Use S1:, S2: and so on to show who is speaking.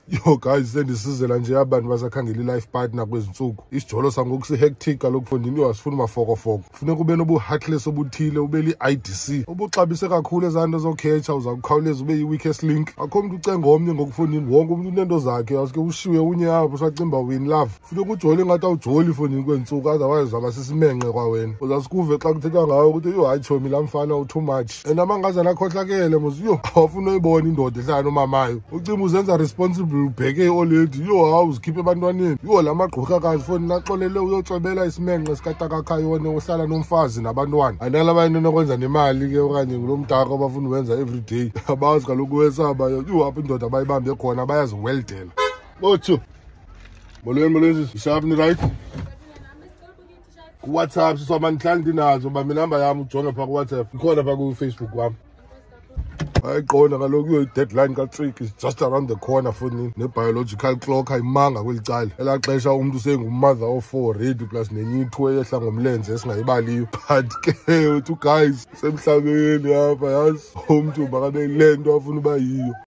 S1: Yo guys, sendisizela nje abantu basakhangela i-life partner kwezi ntsuku. Isijolo sangoku si-hectic kaloku fondini, yho, asifuni mafokofoko. Funeka ube nobu-heartless obuthile, ube li-IDC. Ubuxabise kakhulu ezaa nto zokhetsha, uza kukhawuleza ube yi-weakest link. Akho mntu ucenga omnye ngokufondini, wonke umntu uneento zakhe, awuske ushiwe unye apho usacimba win love. Funeka ujole ingathi awujoli fondini kwezi ntsuku, otherwise uzawuba sisimenqe kwawena. Uzasikuve xa kuthethwa ngawe ukuthi yho hayi tshomi laa mfana u-too much. And amangazana akhohlakele mos, yho, awafuna uyibona indoda ehlala nomamayo. Ucimba uzenza responsible, ubheke i-oledi, yho hawu uzikhiphe ebantwaneni. Yho la magqurhakazi fondini axolele uyotswebela isimenqe sikatakakhayone ohlala nomfazi nabantwana. Andala bayinto enokwenza nemali ke okanye ngulo mdaka abafuna uwenza everyday. Abazi kaloku wesaba, yho apho indoda bayibambe khona bayaziweldela. Otsho. Molweni, molweni, sharp ni right? KuWhatsApp siswama ndihlala ndinazo, bamba inamba yam ujonge phaa kuWhatsApp. Ikhona phaa kuFacebook wam. Ayiqonda kaloku iyo i-deadline kaTrick is just around the corner fondini. Ne-biological clock ayimanga kweli cala. Elaa xesha umntu sengumother of four ready plus nenye ithu eyehla ngomlenze esingayibaliyo. But ke uthi guys, semhlabeni apha yazi umntu makabe yile nto afuna uba yiyo.